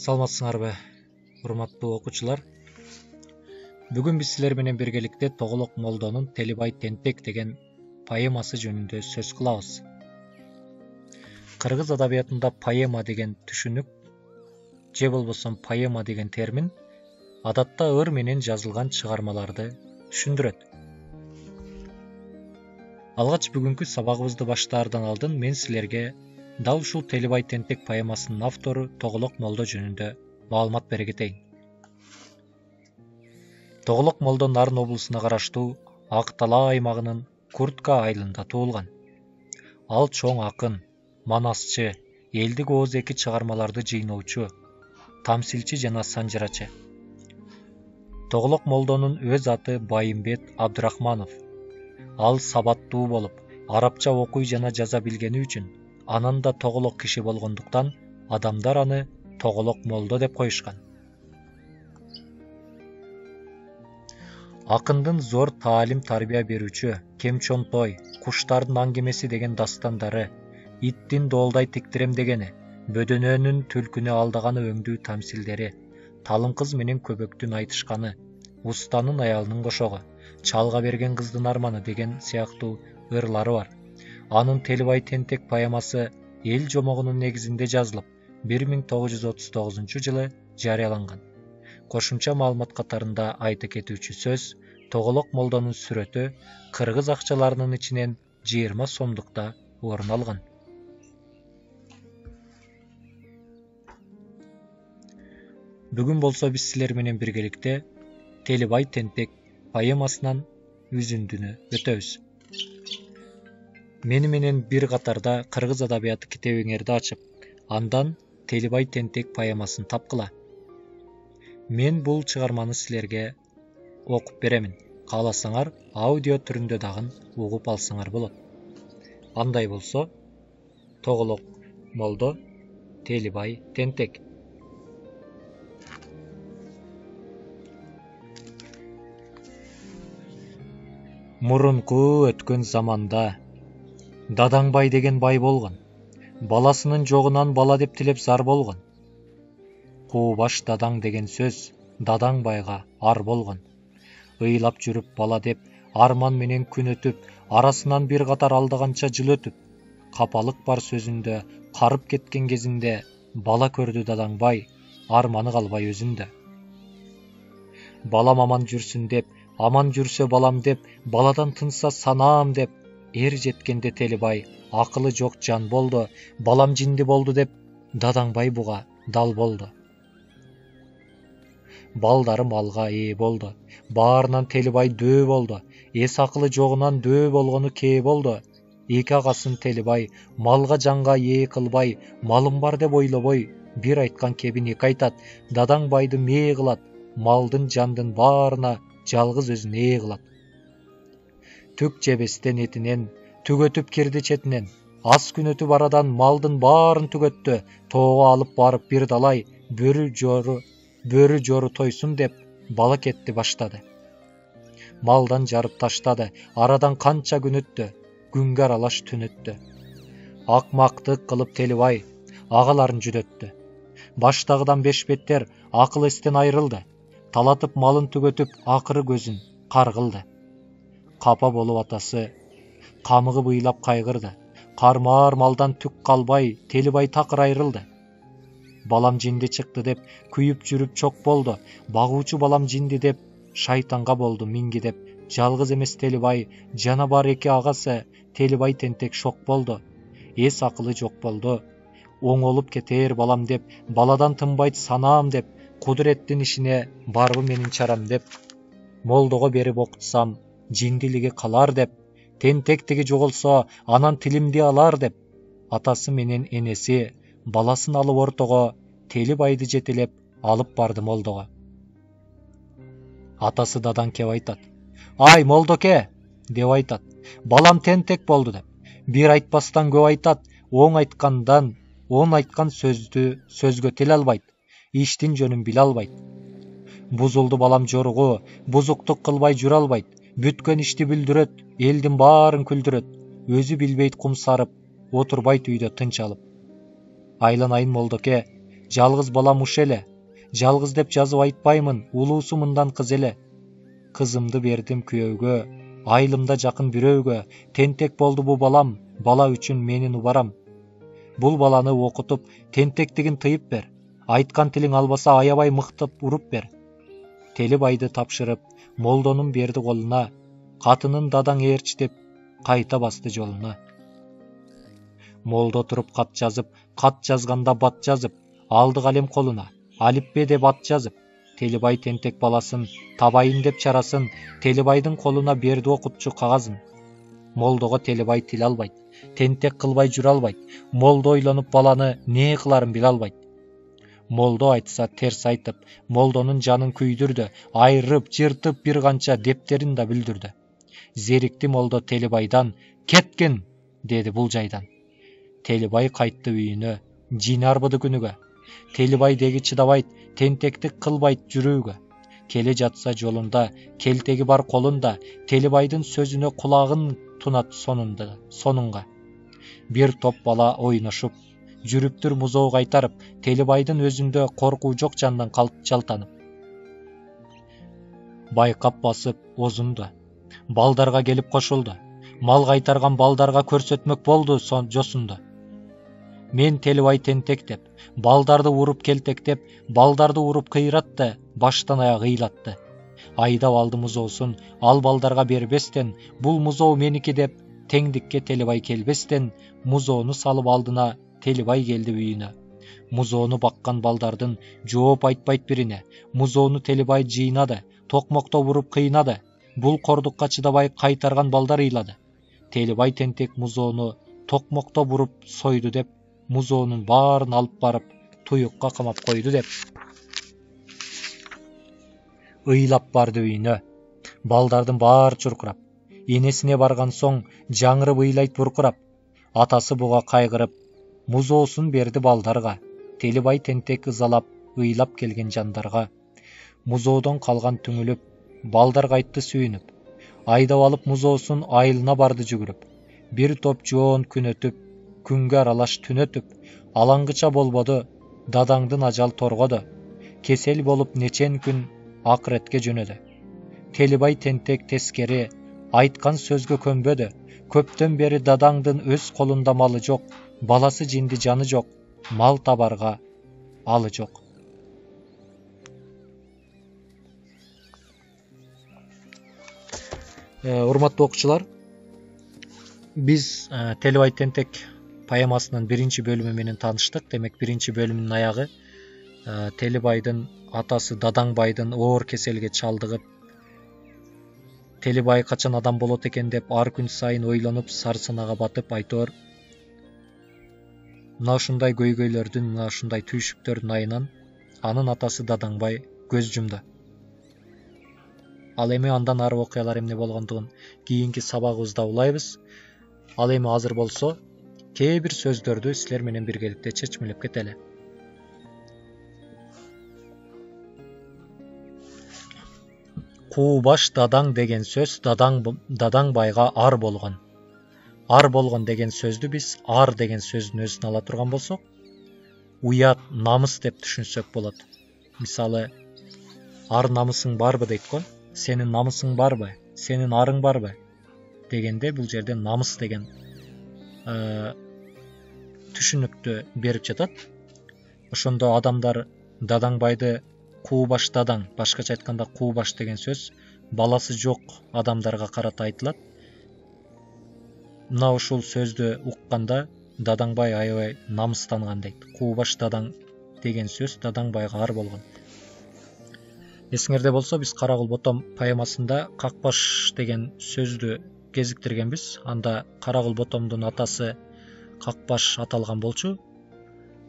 Саламатсыңарбы, урматтуу окуучулар? Бүгүн биз силер менен биргеликте Тоголок Молдонун Телибай Тентек деген поэмасы жөнүндө сөз кылабыз. Кыргыз адабиятында поэма деген түшүнүк же болбосо поэма деген термин адатта ыр менен жазылган чыгармаларды түшүндүрөт. Алгач бүгүнкү сабагыбызды баштаардан алдын мен силерге дал ушул Телибай Тентек поэмасынын автору Тоголок Молдо жөнүндө маалымат бере кетейин. Тоголок Молдо Нарын облусуна караштуу Ак Талаа аймагынын Куртка айылында туулган. Ал чоң акын, манасчы, элдик ооз эки чыгармаларды жыйноочу, тамсилчи жана санжырачы. Тоголок Молдонун өз аты Байымбет Абдрахманов. Ал сабаттуу болуп, арабча окуй жана жаза билгени үчүн, анан да тоголок киши болгондуктан адамдар аны Тоголок Молдо деп коюшкан. Акындын зор таалим тарбия берүүчү Кемчонтой, Куштардын аңгемеси деген дастандары, Иттин доолдай тиктирем дегени, Бөдөнөнүн түлкүнү алдаганы өңдүү тамсилдери, Талым кыз менен көбөктүн айтышканы, Устанын аялынын кошогу, Чалга берген кыздын арманы деген сыяктуу ырлары бар. Анын Телибай Тентек поэмасы эл жомогунун негизинде жазылып, 1939 жылы жарыяланган. Кошумча маалымат катарында айта кетүүчү сөз, Тоголок Молдонун сүрөтү кыргыз акчаларынын ичинен 20 сомдукта орун алган. Бүгүн болсо биз силер менен биргеликте Телибай Тентек поэмасынан үзүндүнү өтөбүз. Мени менен бир катарда кыргыз адабияты китебиңерди ачып, андан Телибай Тентек поэмасын тапкыла. Мен бул чыгарманы силерге окуп беремин. Кааласаңар, аудио түрүндө дагы угуп алсаңар болот. Андай болсо, Тоголок Молдо Телибай Тентек. Мурунку өткөн заманда Дадаңбай деген бай болгон. Баласынын жогунан бала деп тилеп зар болгон. Куубаш дадаң деген сөз Дадаңбайга ар болгон. Ыйлап жүрүп бала деп арман менен күн өтүп, арасынан бир катар алдаганча жыл өтүп, капалык бар сөзүндө карып кеткен кезинде бала көрдү Дадаңбай, арманы калбай өзүндө. Балам аман жүрсүн деп, аман жүрсө балам деп, баладан тынса санаам деп, эр жеткенде Телибай акылы жок жан болду, балам жинди болду деп Дадаңбай буга дал болду. Балдары малга ээ болду, баарынан Телибай дөө болду, эс акылы жогунан дөө болгону кээ болду. Эки агасын Телибай малга жанга ээ кылбай, малым бар деп ойлобой, бир айткан кебин эки айтат, Дадаңбайды мээ кылат, малдын жандын баарына жалгыз өзүн ээ кылат. Түк жебестен этинен, түгөтүп кирди четинен, аз күн өтүп арадан малдын баарын түгөттү, тоого алып барып бир далай, бөрү жору тойсун деп бала кетти баштады. Малдан жарып таштады, арадан канча күн өттү, күнгө аралаш түн өттү. Акмактык кылып Телибай агаларын жүдөттү. Баштагыдан бешбеттер акыл эстен айрылды, талатып малын түгөтүп акыры көзүн каргылды. Капа болуп атасы камыгып ыйлап кайгырды, кармаар малдан түк калбай Телибай такыр айрылды. Балам жинди чыкты деп күйүп жүрүп чок болду, багуучу балам жинди деп шайтанга болду минги деп, жалгыз эмес Телибай, жана бар эки агасы Телибай Тентек шок болду. Эс акылы жок болду, оңолуп кетер балам деп, баладан тынбайт санаам деп, кудуреттин ишине барбы менин чарам деп, молдого берип окутсам жиндилиги калар деп, тентектиги жоголсо анан тилимди алар деп, атасы менен энеси баласын алып ортого Телибайды жетелеп алып барды молдого. Атасы дадаң кеп айтат, ай молдоке деп айтат, балам тентек болду деп. Бир айтпастан көп айтат, оң айткан сөзгө тил албайт, иштин жөнүн биле албайт. Бузулду балам жоругу, бузуктук кылбай жүрө албайт, бүткөн ишти бүлдүрөт, элдин баарын күлдүрөт, өзү билбейт кум сарып, отурбайт үйдө тынч алып. Айланайын молдоке, жалгыз балам уш эле. Жалгыз деп жазып айтпаймын, улуусу мындан кыз эле. Кызымды бердим күйөөгө, айылымда жакын бирөөгө. Тентек болду бу балам, бала үчүн менин убарам. Бул баланы окутуп, тентектигин тыйып бер. Айткан тилиң албаса аябай мыктап уруп бер. Телибайды тапшырып, молдонун берди колуна. Катынын дадаң ээрчи деп кайта басты жолуна. Молдо туруп кат жазып, кат жазганда бат жазып, алды калем колуна, алипбе деп ат жазып. Телибай тентек баласын табайын деп чарасын, Телибайдын колуна берди окутчу кагазын. Молдого Телибай тил албайт, тентек кылбай жүрө албайт. Молдо ойлонуп баланы не кыларын биле албайт. Молдо айтса терс айтып, молдонун жанын күйдүрдү, айрып, жыртып бир канча дептерин да бүлдүрдү. Зерикти молдо Телибайдан, кеткин, деди бул жайдан. Телибай кайтты үйүнө, жин арбыды күнүгө. Телибай деги чыдабайт, тентектик кылбайт жүрүүгө. Келе жатса жолунда, келтеги бар колунда, Телибайдын сөзүнө кулагын тунат сонунга. Бир топ бала ойношуп, жүрүптүр музоо кайтарып, Телибайдын өзүндө коркуу жок жандан жалтанып. Байкап басып озунду, балдарга келип кошулду. Мал кайтарган балдарга көрсөтмөк болду жосунду. Мен Телибай тентек деп, балдарды уруп келтектеп, балдарды уруп кыйратты, баштан аяк ыйлатты. Айдап алды музоосун, ал балдарга бербестен, бул музоо меники деп, теңдикке Телибай келбестен, музоону салып алдына Телибай келди үйүнө. Музоону баккан балдардын жооп айтпайт бирине. Музоону Телибай жыйнады, токмокто уруп кыйнады. Бул кордукка чыдабай кайтарган балдар ыйлады. Телибай тентек музоону токмокто буруп сойду деп, музоонун баарын алып барып туюкка камап койду деп ыйлап барды үйүнө. Балдардын баары чуркурап, энесине барган соң жаңырып ыйлайт буркурап. Атасы буга кайгырып, музоосун берди балдарга. Телибай тентек ызалап, ыйлап келген жандарга. Музоодон калган түңүлүп, балдар кайтты сүйүнүп. Айдап алып музоосун айылына барды жүгүрүп. Бир топ жоон күн өтүп, күнгө аралаш түн өтүп, алаңгыча болбоду, дадаңдын ажал торгоду. Кесел болуп нечен күн акыретке жөнөдү. Телибай тентек тескери, айткан сөзгө көнбөдү. Көптөн бери дадаңдын өз колунда малы жок, баласы жинди жаны жок, мал табарга алы жок. Урматтуу окуучулар, биз Телибай тентек поэмасынын биринчи бөлүмү менен тааныштык. Демек, биринчи бөлүмдүн аягы Телибайдын атасы Дадаңбайдын оор кеселге чалдыгып, Телибай качан адам болот экен деп ар күн сайын ойлонуп, сарсанага батып, айтор мына ушундай көйгөйлөрдүн, мына ушундай түйшүктөрдүн айынан анын атасы Дадаңбай көз жумду. Ал эми андан ары окуялар эмне болгондугун кийинки сабагыбызда улайбыз. Ал эми азыр болсо, кээ бир сөздөрдү силер менен биргеликте чечмелеп кетели. Куу баш дадаң деген сөз Дадаңбайга ар болгон. Ар болгон деген сөздү биз ар деген сөздүн өзүнө ала турган болсок, уят, намыс деп түшүнсөк болот. Мисалы, ар намысың барбы дейт го. Сенин намысың барбы? Сенин арың барбы? Дегенде бул жерде намыс деген түшүнүктү берип жатат. Ошондо адамдар Дадаңбайды куу баш дадаң, башкача айтканда куу баш деген сөз баласы жок адамдарга карата айтылат. Мына ушул сөздү укканда Дадаңбай аябай намыстанган дейт. Куу баш дадаң деген сөз Дадаңбайга ар болгон. Эсиңерде болсо, биз Кара кул ботом поэмасында Какбаш деген сөздү кезиктиргенбиз. Анда Кара кул ботомдун атасы Какбаш аталган болчу.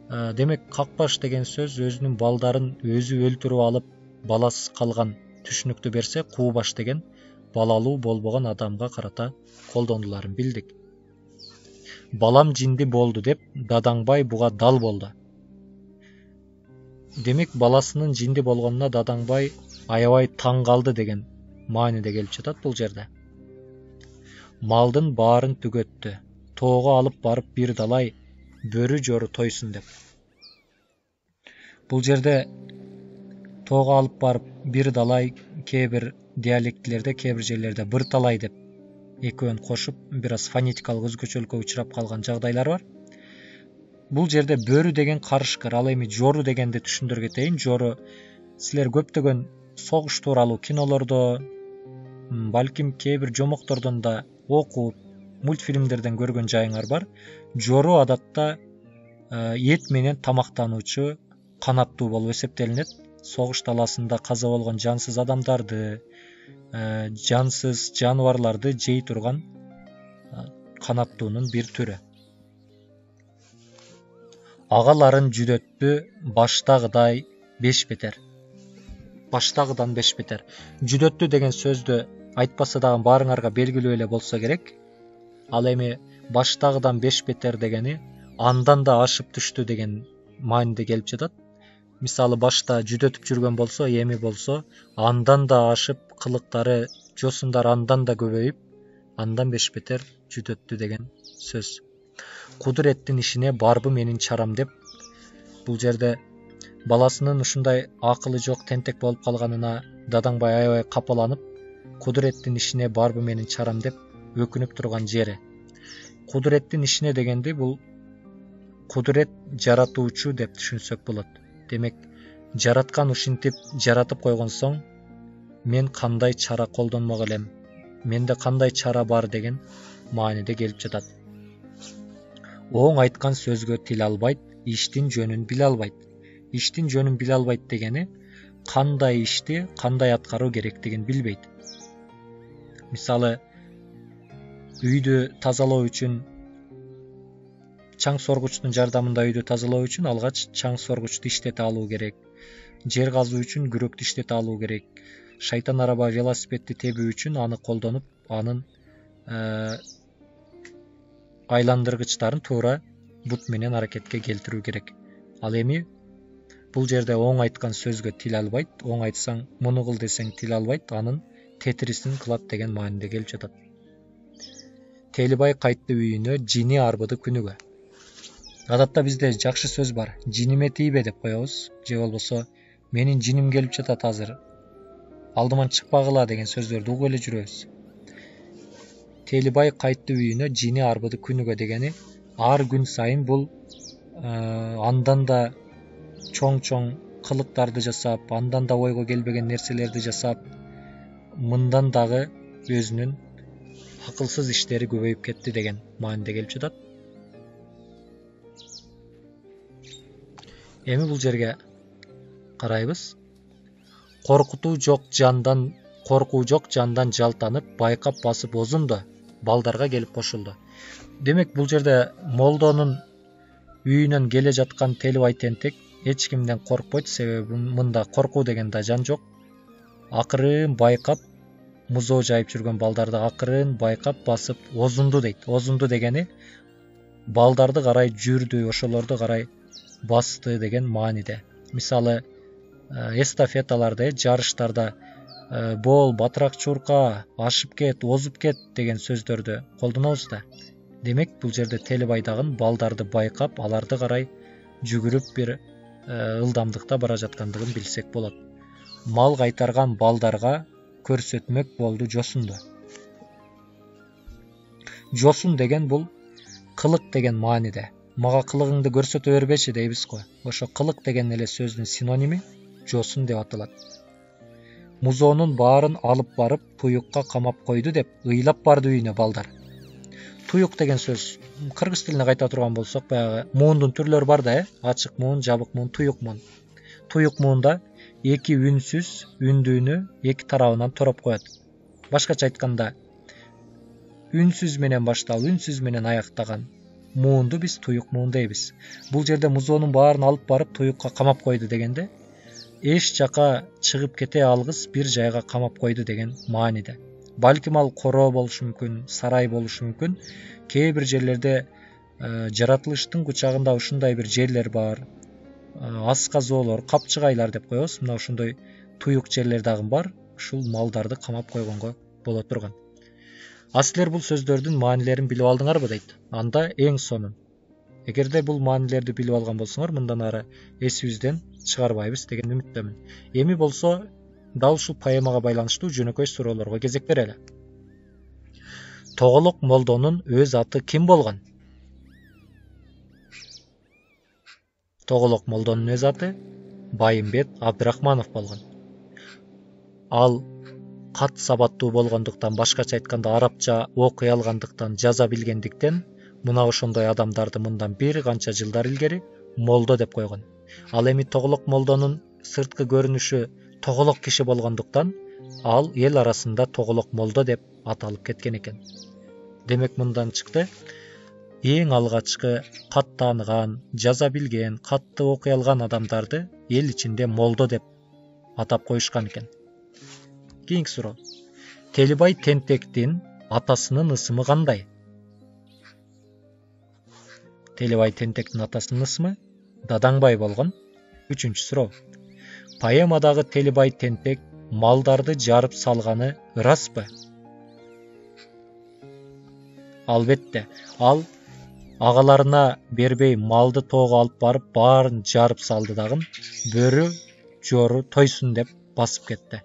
Демек, Какбаш деген сөз өзүнүн балдарын өзү өлтүрүп алып, баласыз калган түшүнүктү берсе, куу баш деген балалуу болбогон адамга карата колдонуларын билдик. Балам жинди болду деп Дадаңбай буга дал болду. Демек, баласынын жинди болгонуна Дадаңбай аябай таң калды деген мааниде келип жатат бул жерде. Малдын баарын түгөттү, тоого алып барып бир далай, бөрү жору тойсун деп. Бул жерде тоого алып барып бир далай, кээ бир диалектилерде, кээ бир жерлерде бир талай деп экөөнү кошуп бир аз фонетикалык өзгөчөлүккө учурап калган жагдайлар бар. Бул жерде бөрү деген карышкыр. Ал эми жору дегенди түшүндүрө кетейин. Жору силер көптөгөн согуш тууралуу кинолордо, балким кээ бир жомоктордон да окуп, мультфильмдерден көргөн жайыңар бар. Жору адатта эт менен тамактануучу канаттуу болуп эсептелинет. Согуш таласында каза болгон жансыз адамдарды, жансыз жаныбарларды жей турган канаттуунун бир түрү. Агаларын жүдөттү баштагыдай 5 бетер. Баштагыдан 5 бетер. Жүдөттү деген сөздү айтпаса дагы баарыңарга белгилүү эле болсо керек. Ал эми баштагыдан 5 бетер дегени андан да ашып түштү деген мааниде келип жатат. Мисалы башта жүдөтүп жүргөн болсо, эми болсо андан да ашып, кылыктары, жосундары андан да көбөйүп, андан 5 бетер жүдөттү деген сөз. Кудуреттин ишине барбы менин чарам деп, бул жерде баласынын ушундай акылы жок, тентек болуп калганына Дадаңбай аябай капаланып, кудуреттин ишине барбы менин чарам деп өкүнүп турган жери. Кудуреттин ишине дегенди бул кудурет жаратуучу деп түшүнсөк болот. Демек, жараткан ушинтип жаратып койгон соң, мен кандай чара колдонмок элем, менде кандай чара бар деген мааниде келип жатат. Оң айткан сөзгө тил албайт, иштин жөнүн биле албайт. Иштин жөнүн биле албайт дегени кандай ишти кандай аткаруу керектигин билбейт. Мисалы, үйдү тазалоо үчүн, чаң соргучтун жардамында үйдү тазалоо үчүн алгач чаң соргучту иштете алуу керек. Жер казуу үчүн күрөктү иштете алуу керек. Шайтан араба велосипедти тебүү үчүн аны колдонуп, анын айландыргычтарын туура бут менен аракетке келтирүү керек. Ал эми бул жерде оң айткан сөзгө тил албайт, оң айтсаң, муну кыл десең тил албайт, анын тетирисин кылат деген мааниде келип жатат. Телибай кайтты үйүнө, жини арбыды күнүгө. Адатта бизде жакшы сөз бар. Жиниме тийбе деп коебуз, же болбосо менин жиним келип жатат азыр, алдыман чыкпагыла деген сөздөрдү угуп эле жүрөбүз. Телибай кайтты үйүнө, жини арбыды күнүгө дегени ар күн сайын бул андан да чоң кылыктарды жасап, андан да ойго келбеген нерселерди жасап, мындан дагы өзүнүн акылсыз иштери көбөйүп кетти деген мааниде келип жатат. Эми бул жерге карайбыз. Коркуу жок жандан жалтанып, байкап басып озунду, балдарга келип кошулду. Демек, бул жерде молдонун үйүнөн келе жаткан Телибай тентек эч кимден коркпойт, себеби мында коркуу деген да жан жок. Акырын байкап, музоо жайып жүргөн балдарды акырын байкап басып озунду дейт. Озунду дегени балдарды карай жүрдү, ошолорду карай басты деген мааниде. Мисалы, эстафеталарда, жарыштарда бол, батыраак чурка, ашып кет, озуп кет деген сөздөрдү колдонобуз да. Демек, бул жерде Телибай дагы балдарды байкап, аларды карай жүгүрүп бир ылдамдыкта бара жаткандыгын билсек болот. Мал кайтарган балдарга көрсөтмөк болду жосунду. Жосун деген бул кылык деген мааниде. Мага кылыгыңды көрсөтө бербечи дейбиз го. Ошо кылык деген эле сөздүн синоними жосун деп аталат. Музоонун баарын алып барып туюкка камап койду деп ыйлап барды үйүнө балдар. Туюк деген сөз кыргыз тилине кайта турган болсок, баягы муундун түрлөрү бар да, ачык муун, жабык муун, туюк муун. Туюк муунда эки үнсүз үндүүнү эки тарабынан тороп коет. Башкача айтканда, үнсүз менен башталып, үнсүз менен аяктаган муунду биз туюк муун дейбиз. Бул жерде музоонун баарын алып барып туюкка камап койду дегенде, эч жака чыгып кете алгыс бир жайга камап койду деген мааниде. Балким ал короо болушу мүмкүн, сарай болушу мүмкүн. Кээ бир жерлерде жаратылыштын кучагында ушундай бир жерлер бар. Асказоолор, капчыгайлар деп коебуз. Мына ушундай туюк жерлер дагы бар. Ушул малдарды камап койгонго боло турган. А силер бул сөздөрдүн маанилерин билип алдыңарбы дейт. Анда эң сонун Эгерде бул маанилерди билип алган болсоңор, мындан ары эсибизден чыгарбайбыз деген үмүттөмүн. Эми болсо дал ушул поэмага байланыштуу жөнөкөй суроолорго кезек берели. Тоголок молдонун өз аты ким болгон? Тоголок молдонун өз аты Байымбет Абдрахманов болгон. Ал кат сабаттуу болгондуктан, башкача айтканда арабча окуй алгандыктан, жаза билгендиктен мына ошондой адамдарды мындан бир канча жылдар илгери молдо деп койгон. Ал эми Тоголок молдонун сырткы көрүнүшү тоголок киши болгондуктан ал эл арасында Тоголок молдо деп аталып кеткен экен. Демек мындан чыкты, эң алгачкы кат тааныган, жаза билген, катты окуй алган адамдарды эл ичинде молдо деп атап коюшкан экен. Кийинки суроо. Телибай Тентектин атасынын ысымы кандай? Телибай Тентектин атасынын ысымы Дадаңбай болгон. Үчүнчү суроо. Поэмадагы Телибай Тентек малдарды жарып салганы ыраспы? Албетте, ал агаларына бербей малды тоого алып барып баарын жарып салды дагы бөрү жору тойсун деп басып кетти.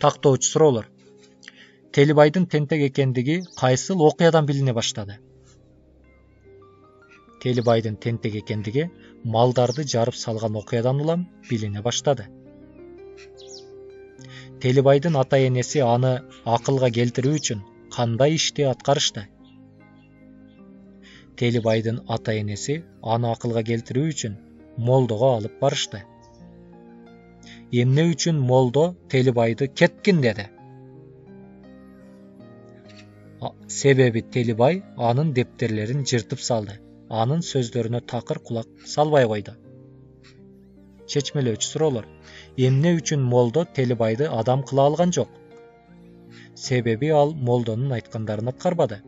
Тактоочу суроолор. Телибайдын тентек экендиги кайсыл окуядан билине баштады? Телибайдын тентек экендиги малдарды жарып салган окуядан улам билине баштады. Телибайдын ата-энеси аны акылга келтирүү үчүн кандай ишти аткарышты? Телибайдын ата-энеси аны акылга келтирүү үчүн молдого алып барышты. Эмне үчүн молдо Телибайды кеткин деди? Себеби Телибай анын дептерлерин жыртып салды. Анын сөздөрүнө такыр кулак салбай койду. Чечмелөөчү суроолор. Эмне үчүн молдо Телибайды адам кыла алган жок? Себеби ал молдонун айткандарын аткарбады.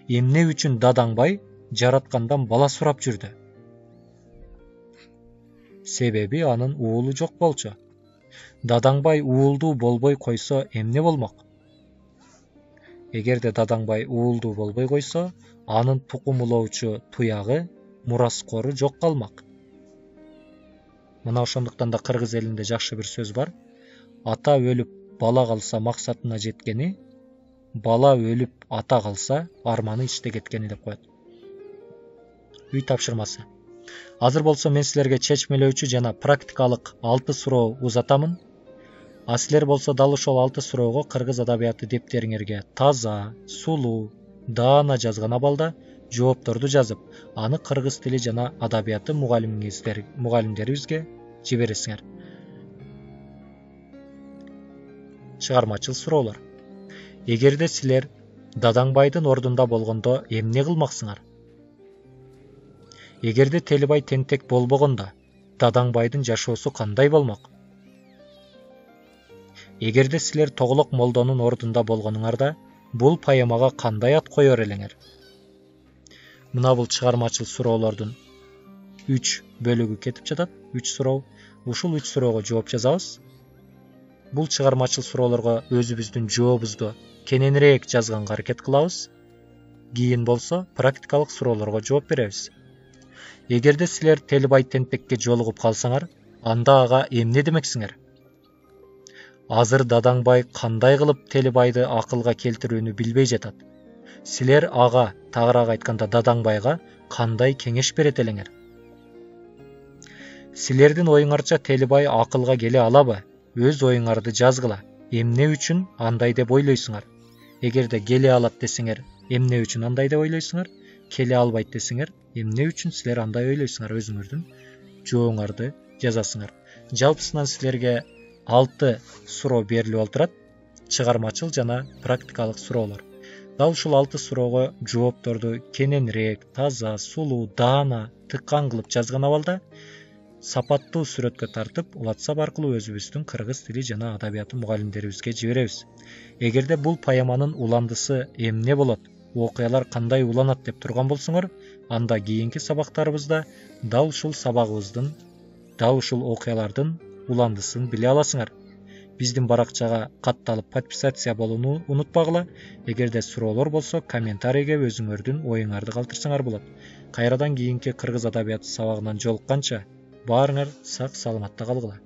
Эмне үчүн Дадаңбай жараткандан бала сурап жүрдү? Себеби анын уулу жок болчу. Дадаңбай уулдуу болбой койсо эмне болмок? Эгерде Дадаңбай уулдуу болбой койсо, анын тукум улоочу туягы, мураскору жок калмак. Мына ошондуктан да кыргыз элинде жакшы бир сөз бар. Ата өлүп бала калса максатына жеткени, бала өлүп ата калса арманы ичте кеткени деп коет. Үй тапшырмасы. Азыр болсо мен силерге чечмелөөчү жана практикалык 6 суроо узатамын. А силер болсо дал ошол 6 суроого кыргыз адабияты дептериңерге таза, сулуу, даана жазган абалда жоопторду жазып, аны кыргыз тили жана адабияты мугалимдерибизге жибересиңер. Чыгармачыл суроолор. Эгерде силер Дадаңбайдын ордунда болгондо эмне кылмаксыңар? Эгерде Телибай тентек болбогондо Дадаңбайдын жашоосу кандай болмок? Эгерде силер Тоголок молдонун ордунда болгонуңарда бул поэмага кандай ат коер элеңер? Мына бул чыгармачыл суроолордун 3 бөлүгү кетип жатат. 3 суроо. Ушул 3 суроого жооп жазабыз. Бул чыгармачыл суроолорго өзүбүздүн жообубузду кененирээк жазганга аракет кылабыз. Кийин болсо практикалык суроолорго жооп беребиз. Эгерде силер Телибай тентекке жолугуп калсаңар, анда ага эмне демексиңер? Азыр Дадаңбай кандай кылып Телибайды акылга келтирүүнү билбей жатат. Силер ага, тагыраак айтканда Дадаңбайга кандай кеңеш берет элеңер? Силердин оюңарча Телибай акылга келе алабы? Өз оюңарды жазгыла. Эмне үчүн андай деп ойлойсуңар? Эгерде келе алат десеңер, эмне үчүн андай деп ойлойсуңар? Келе албайт десеңер, эмне үчүн силер андай ойлойсуңар? Өзүңөрдүн жооңарды жазасыңар. Жалпысынан силерге 6 суроо берилип отурат. Чыгармачыл жана практикалык суроолор. Дал ушул 6 суроого жоопторду кененирээк, таза, сулуу, даана, тыккан кылып жазган абалда сапаттуу сүрөткө тартып, WhatsApp аркылуу өзүбүздүн кыргыз тили жана адабияты мугалимдерибизге жиберебиз. Эгерде бул поэманын уландысы эмне болот, окуялар кандай уланат деп турган болсоңор, анда кийинки сабактарыбызда дал ушул сабагыбыздын, дал ушул окуялардын уландысын биле аласыңар. Биздин баракчага катталып подписация болууну унутпагыла. Эгерде суроолор болсо, комментарийге өзүңөрдүн оюңарды калтырсаңар болот. Кайрадан кийинки кыргыз адабияты сабагынан жолукканча баарыңар сак саламатта калгыла.